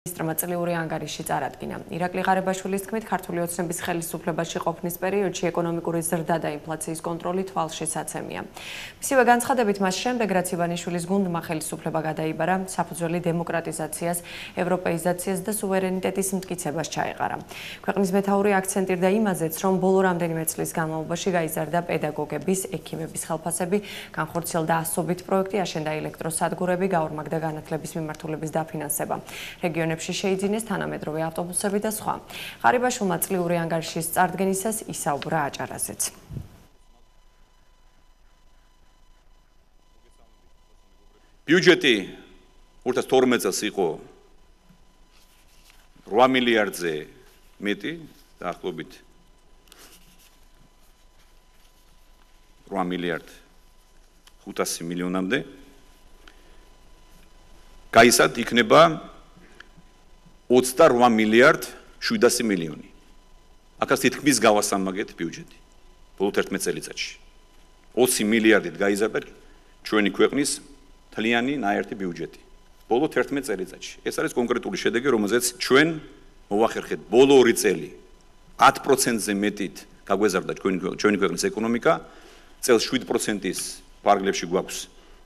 Ministrმა წლიური ანგარიში წარადგინა. ირაკლი ღარებაშვილის თქმით, ქართული ოცნების ხელისუფლებაში ყოფნის პერიოდში ეკონომიკური ზრდა და ინფლაციის კონტროლი თვალშისაცემია. მისივე განცხადებით, მას შემდეგ, რაც ივანიშვილის გუნდმა ხელისუფლება გადაიბარა, საფუძველი დემოკრატიზაციას, ევროპეიზაციას და სუვერენიტეტის მტკიცებას ჩაეყარა. ქვეყნის მეთაური აქცენტირდა იმაზეც, რომ ბოლო რამდენიმე წლის განმავლობაში გაიზარდა პედაგოგების, ექიმების ხელფასები, განხორციელდა ასობით პროექტი, აშენდა ელექტროსადგურები, გაორმაგდა განათლების მიმართულების დაფინანსება. რეგიონებში შეიძინეს თანამედროვე ავტობუსები და სხვა. ღარებაშვილმა წლიური ანგარიშის წარდგენისას ისაუბრა აჭარაზეც. ბიუჯეტი 2012 წელს იყო 8 მილიარდზე მეტი, დაახლოებით 8 მილიარდ 500 მილიონამდე. გაისად იქნება 28 მილიარდ 700 მილიონი. აქაც თითქმის გავასამაგეთ ბიუჯეტი. ბოლო 11 წელიწადში. 20 მილიარდით გაიზარდა ჩვენი ქვეყნის მთლიანი ნაერთი ბიუჯეტი. ბოლო 11 წელიწადში. ეს არის კონკრეტული შედეგი, რომელზეც ჩვენ მოვახერხეთ ბოლო 2 წელი 10%-ზე მეტით გაგვეზარდა ჩვენი ქვეყნის ეკონომიკა. წელს 7%-ის ფარგლებში გვაქვს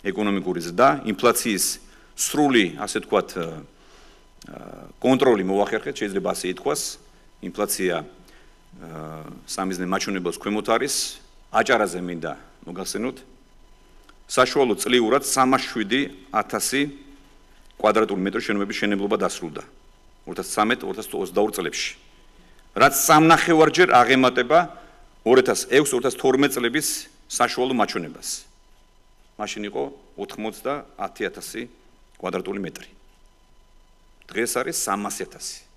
ეკონომიკური ზრდა, ინფლაციის სრული, ასე ვთქვათ, კონტროლი მოვახერხეთ, შეიძლება ასე ითქვას. ინფლაცია სამიზნე მაჩვენებელს ქვემოთ არის, აჭარაზე მინდა მოგახსენოთ. საშუალო წლიურად 307,000 კვადრატული მეტრი შენობების შენებლობა დასრულდა 2013-2022 წლებში. რაც 3,5-ჯერ აღემატება 2006-2012 წლების საშუალო მაჩვენებას. მაშინ იყო 90,000 კვადრატული მეტრი. დღეს არის 300,000.